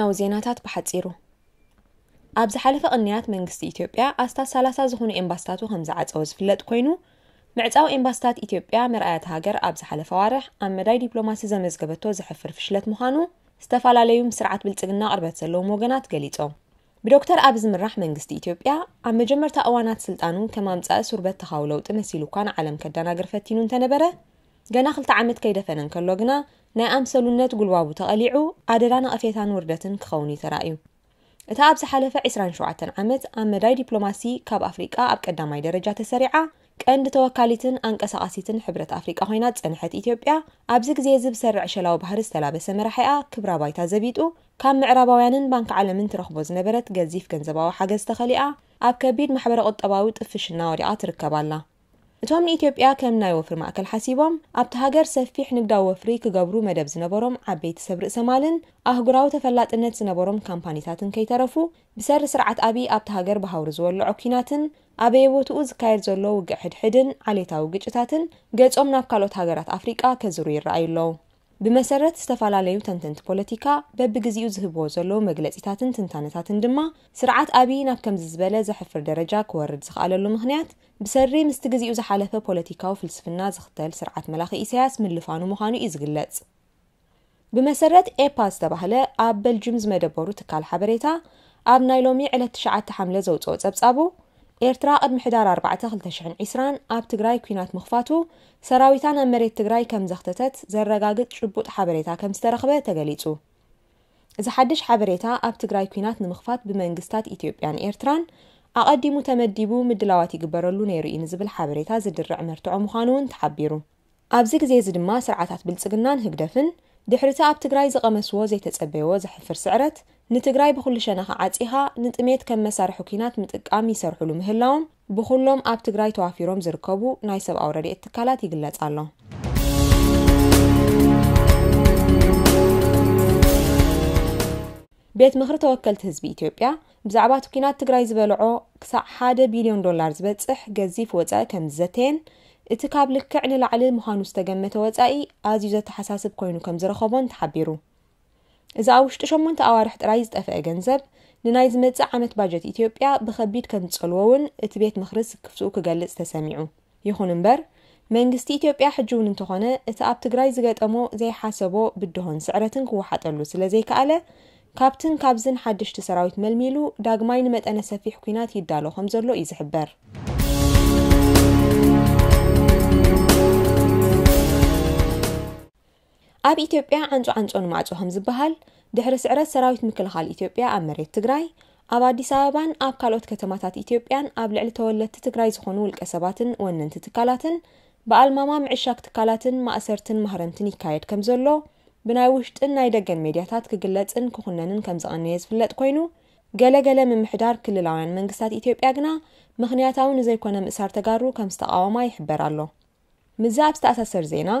ኣብ ዜናታት ብሓጺሩ። ኣብ ዝሓለፈ ቅንያት መንግስቲ ኢትዮጵያ ኣስታት ሰላሳ ዝኾኑ ኤምባስታቱ ከም ዝዓጸወ ዝፍለጥ ኮይኑ፣ ምዕጻው ኤምባስታት ኢትዮጵያ መርኣያት ሃገር ኣብ ዝሓለፈ ኣዋርሕ ኣብ መዳይ ዲፕሎማሲ ዘመዝገበቶ ዘሕፍር ፍሽለት ምዃኑ ዝተፈላለዩ ምስ ስርዓት ብልጽግና ቅርበት ዘለዎም ወገናት ገሊጾም። ብዶክተር ኣቢ ዝምራሕ መንግስቲ ኢትዮጵያ ኣብ መጀመርታ እዋናት ስልጣኑ ከም ኣምጻኢ ሱር በተኻዊ ለውጢ መሲሉ እኳ ንዓለም ከደናግር ፈቲኑ እንተነበረ፣ ገና ክልተ ዓመት ከይደፈነ እንከሎ ግና ናይ ኣምሰሉነት ጉልባቡ ተቐሊዑ ኣደዳ ነቐፌታን ውርደትን ክኸውን እዩ ተራእዩ። እታ ኣብ ዝሓለፈ ዕስራን ሸውዓተን ዓመት ኣብ መዳይ ዲፕሎማሲ ካብ ኣፍሪቃ ኣብ ቀዳማይ ደረጃ ተሰሪዓ፣ ቀንዲ ተወካሊትን ኣንቀሳቓሲትን ሕብረት ኣፍሪቃ ኮይና ዝጸንሐት ኢትዮጵያ፣ ኣብዚ ግዜ እዚ ብሰሪ ዕሸላዊ ባህሪ ዝተላበሰ መራሒኣ ክብራ ባይታ ዘቢጡ፣ ካብ ምዕራባውያንን ባንክ ዓለምን ትረኽቦ ዝነበረት ገዚፍ ገንዘባዊ ሓገዝ ተኸሊኣ፣ ኣብ ከቢድ ማሕበረ ቁጠባዊ ጥፍሽና ወዲቓ ትርከብ ኣላ። እቶም ንኢትዮጵያ ከም ናይ ወፍሪ ማእከል ሓሲቦም ኣብቲ ሃገር ሰፊሕ ንግዳዊ ወፍሪ ክገብሩ መደብ ዝነበሮም ዓበይቲ ሰብ ርእሰ ማልን ኣህጉራዊ ተፈላጥነት ዝነበሮም ካምፓኒታትን ከይተረፉ፣ ብሰሪ ስርዓት ኣቢ ኣብቲ ሃገር ብሃውሪ ዝወልዖ ኲናትን ኣበየቦትኡ ዝካየድ ዘሎ ውግእ ሕድሕድን ዓሌታዊ ግጭታትን ገጾም ናብ ካልኦት ሃገራት ኣፍሪቃ ከዝሩ ይረኣዩ ኣለዉ። ብመሰረት ዝተፈላለዩ ተንተንቲ ፖለቲካ በብግዜኡ ዝህብዎ ዘለዉ መግለጺታትን ትንታነታትን ድማ፣ ስርዓት ኣቢ ናብ ከምዚ ዝበለ ዘሕፍር ደረጃ ክወርድ ዝኸኣለሉ ምኽንያት ብሰሪ ምስቲ ግዜኡ ዝሓለፈ ፖለቲካዊ ፍልስፍና ዝኽተል ስርዓት መላኺ ኢሳያስ ምልፋኑ ምዃኑ እዩ ዝግለጽ። ብመሰረት ኤፓ ዝተባህለ ኣብ በልጅም ዝመደበሩ ትካል ሓበሬታ፣ ኣብ ናይ ሎሚ ዕለት ትሽዓተ ሓምለ ዘውጽኦ ጸብጻቡ፣ ኤርትራ ቅድሚ ሕዳር ኣርባዕተ ክልተ ሽሕን ዕስራን ኣብ ትግራይ ኲናት ምኽፋቱ ሰራዊታ ናብ መሬት ትግራይ ከም ዘኽተተት ዘረጋግጽ ጭቡጥ ሓበሬታ ከም ዝተረኽበ ተገሊጹ። እዚ ሓድሽ ሓበሬታ ኣብ ትግራይ ኲናት ንምኽፋት ብመንግስታት ኢትዮጵያን ኤርትራን ኣቐዲሙ ተመዲቡ ምድላዋት ይግበረሉ ነይሩ እዩ ንዝብል ሓበሬታ ዝድርዕ መርትዖ ምዃኑ እውን ተሓቢሩ። ኣብዚ ግዜ እዚ ድማ ስርዓታት ብልጽግናን ህግደፍን ድሕሪ እቲ ኣብ ትግራይ ዝቐመስዎ ዘይተጸበይዎ ዘሕፍር ስዕረት፣ ንትግራይ ብኹሉ ሸነኻ ዓጺኻ ንጥሜት ከም መሳርሒ ኲናት ምጥቃም ይሰርሕሉ ምህላዎም ብኹሎም ኣብ ትግራይ ተዋፊሮም ዝርከቡ ናይ ሰብኣዊ ረድኤት ትካላት ይግለጽ ኣሎ። ቤት ምኽሪ ተወከልቲ ህዝቢ ኢትዮጵያ ብዛዕባ እቲ ኲናት ትግራይ ዝበልዖ ክሳዕ ሓደ ቢልዮን ዶላር ዝበጽሕ ገዚፍ ወጻኢ ከም ዝዘተየን፣ እቲ ካብ ልክዕ ንላዕሊ ምዃኑ ዝተገመተ ወጻኢ ኣዝዩ ዘተሓሳስብ ኮይኑ ከም ዝረኸቦን ተሓቢሩ። እዚ ኣብ ውሽጢ ሸሞንተ ኣዋርሕ ጥራይ ዝጠፍአ ገንዘብ፣ ንናይ ዝመጽእ ዓመት ባጀት ኢትዮጵያ ብኸቢድ ከም ዝጸልዎ እውን እቲ ቤት ምኽሪ ስክፍትኡ ክገልጽ ተሰሚዑ። ይኹን እምበር፣ መንግስቲ ኢትዮጵያ ሕጂ እውን እንተኾነ፣ እቲ ኣብ ትግራይ ዝገጠሞ ዘይሓሰቦ ብድሆን ስዕረትን ክወሓጠሉ ስለ ዘይከኣለ፣ ካብትን ካብዝን ሓደሽቲ ሰራዊት መልሚሉ ዳግማይ ንመጠነ ሰፊሕ ኲናት ይዳሎ ከም ዘሎ እዩ ዝሕበር። ኣብ ኢትዮጵያ ዓንጾ ዓንጾ ንማዕጾ ከም ዝበሃል፣ ድሕሪ ስዕረት ሰራዊት ምክልኻል ኢትዮጵያ ኣብ መሬት ትግራይ፣ ኣብ ኣዲስ ኣበባን ኣብ ካልኦት ከተማታት ኢትዮጵያን ኣብ ልዕሊ ተወለድቲ ትግራይ ዝኾኑ ውልቀ ሰባትን ወነንቲ ትካላትን ብኣልማማ ምዕሻግ ትካላትን ማእሰርትን ማህረምትን ይካየድ ከም ዘሎ ብናይ ውሽጥን ናይ ደገን ሜድያታት ክግለጽን ክኹነንን ከም ዝቐነየ ዝፍለጥ ኮይኑ፣ ገለገለ ምምሕዳር ክልላውያን መንግስታት ኢትዮጵያ ግና ምኽንያታዊ ንዘይኮነ ምእሳር ተጋሩ ከም ዝተቓወማ ይሕበር ኣሎ። ምስዚ ኣብ ዝተኣሳሰር ዜና፣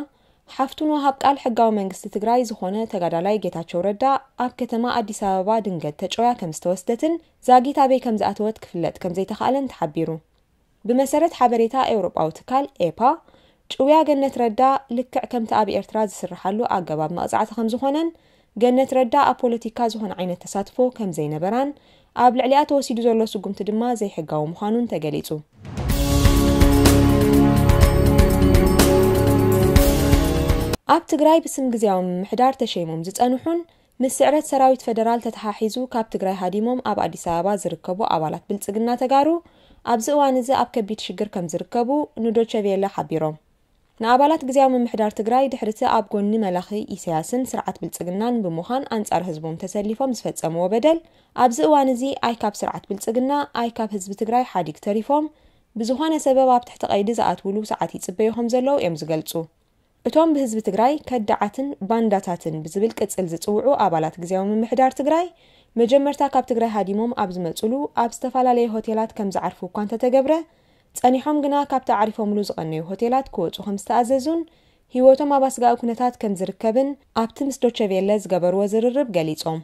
ሓፍቱን ወሃብ ቃል ሕጋዊ መንግስቲ ትግራይ ዝኾነ ተጋዳላይ ጌታቸው ረዳ ኣብ ከተማ ኣዲስ ኣበባ ድንገት ተጨውያ ከም ዝተወስደትን ዛጊት ኣበይ ከም ዝኣተወት ክፍለጥ ከም ዘይተኻእለን ተሓቢሩ። ብመሰረት ሓበሬታ ኤውሮጳዊ ትካል ኤፓ፣ ጭውያ ገነት ረዳ ልክዕ ከምቲ ኣብ ኤርትራ ዝስርሓሉ ኣገባብ መቕጻዕቲ ከም ዝኾነን፣ ገነት ረዳ ኣብ ፖለቲካ ዝኾነ ዓይነት ተሳትፎ ከም ዘይነበራን፣ ኣብ ልዕሊኣ ተወሲዱ ዘሎ ስጉምቲ ድማ ዘይሕጋዊ ምዃኑን ተገሊጹ። ኣብ ትግራይ ብስም ግዝያዊ ምምሕዳር ተሸይሞም ዝጸንሑን ምስ ስዕረት ሰራዊት ፈደራል ተተሓሒዙ ካብ ትግራይ ሃዲሞም ኣብ ኣዲስ ኣበባ ዝርከቡ ኣባላት ብልጽግና ተጋሩ ኣብዚ እዋን እዚ ኣብ ከቢድ ሽግር ከም ዝርከቡ ንዶቸ ቬለ ሓቢሮም። ንኣባላት ግዝያዊ ምምሕዳር ትግራይ ድሕሪ እቲ ኣብ ጎኒ መላኺ ኢሳያስን ስርዓት ብልጽግናን ብምዃን ኣንጻር ህዝቦም ተሰሊፎም ዝፈጸምዎ በደል፣ ኣብዚ እዋን እዚ ኣይ ካብ ስርዓት ብልጽግና ኣይ ካብ ህዝቢ ትግራይ ሓዲግ ተሪፎም ብዝኾነ ሰበብ ኣብ ትሕቲ ቀይዲ ዝኣትውሉ ሰዓት ይጽበዩ ከም ዘለዉ እዮም ዝገልጹ። እቶም ብህዝቢ ትግራይ ከዳዓትን ባንዳታትን ብዝብል ቅጽል ዝጽውዑ ኣባላት ግዝያዊ ምምሕዳር ትግራይ መጀመርታ ካብ ትግራይ ሃዲሞም ኣብ ዝመጹሉ ኣብ ዝተፈላለየ ሆቴላት ከም ዝዓርፉ እኳ እንተተገብረ፣ ጸኒሖም ግና ካብቲ ኣዕሪፎምሉ ዝቐነዩ ሆቴላት ክወጹ ከም ዝተኣዘዙን ህይወቶም ኣብ ኣስጋኢ ኩነታት ከም ዝርከብን ኣብቲ ምስ ዶቸ ቬለ ዝገበርዎ ዝርርብ ገሊጾም።